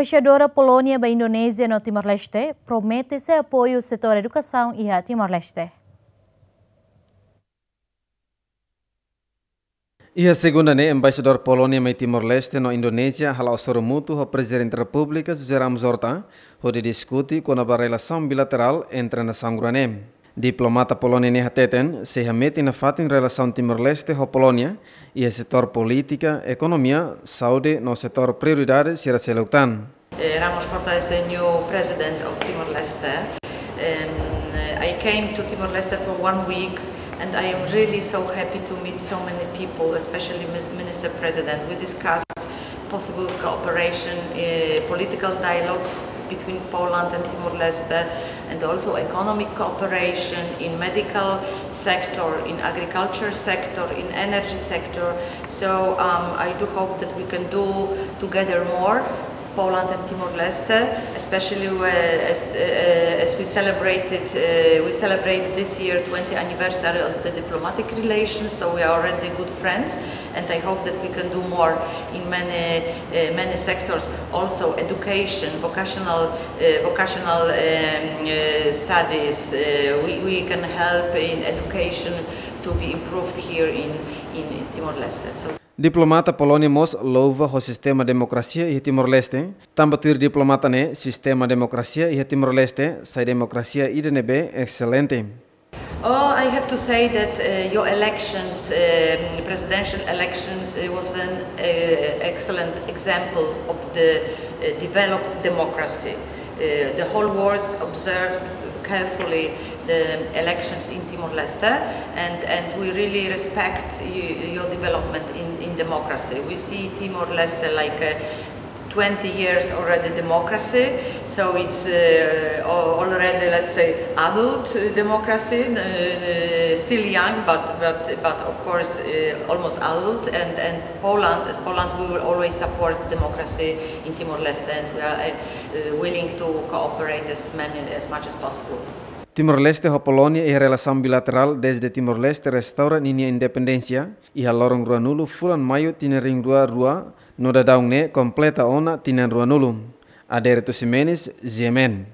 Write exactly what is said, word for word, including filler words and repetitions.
Embaixadora Polónia ba Indonézia no Timor-Leste promete sei apoiu setór edukasaun iha Timor-Leste. Iha segunda ne'e, Embaixadór Polónia mai Timor-Leste no Indonézia hala'o hasoru mútuu ho Prezidente Repúblika José Ramos Horta, hodi diskute kona-ba relasaun bilaterál entre nasaun rua ne'e. Diplomata Polónia ne'e hateten, sei hametin nafatin relasaun Timor-Leste ho Polónia iha setór polítika, ekonomia, saúde no setór prioridade sira seluk tan. Eh, Ramos Horta is a new president of Timor-Leste. Um, I came to Timor-Leste for one week and I am really so happy to meet so many people, especially Mis-, Minister President. We discussed possible cooperation, eh, political dialogue between Poland and Timor-Leste, and also economic cooperation in medical sector, in agriculture sector, in energy sector. So, um, I do hope that we can do together more, Poland and Timor-Leste, especially where, as, uh, as we celebrated, uh, we celebrate this year twenty anniversary of the diplomatic relations, so we are already good friends, and I hope that we can do more in many, uh, many sectors. Also education, vocational, uh, vocational, um, uh, studies. Uh, we, we can help in education to be improved here in, in, in Timor-Leste. So Diplomata Polónia mós louva ho sistema demokrasia iha Timor-Leste, tanba tuir diplomata ne'e, sistema demokrasia iha Timor-Leste sai demokrasia ida ne'ebé excelente. Oh, I have to say that, uh, your elections, um, presidential elections, it was an, uh, excellent example of the, uh, developed democracy. Uh, the whole world observed carefully the elections in Timor-Leste, and, and we really respect y-, your development in, in democracy. We see Timor-Leste like a twenty years already democracy, so it's, uh, al-, already, let's say, adult, uh, democracy, uh, still young, but, but, but of course, uh, almost adult, and, and Poland, as Poland, we will always support democracy in Timor-Leste, and we are, uh, uh, willing to cooperate as many, as much as possible. Timor-Leste ho Polónia iha relasaun bilaterál dezde Timor-Leste restaura ninia independénsia iha loron ruanulu fulan Maiu tinan rihun rua rua, no daudaun ne'e kompleta ona tinan ruanulu. Adérito Ximenes, G M N.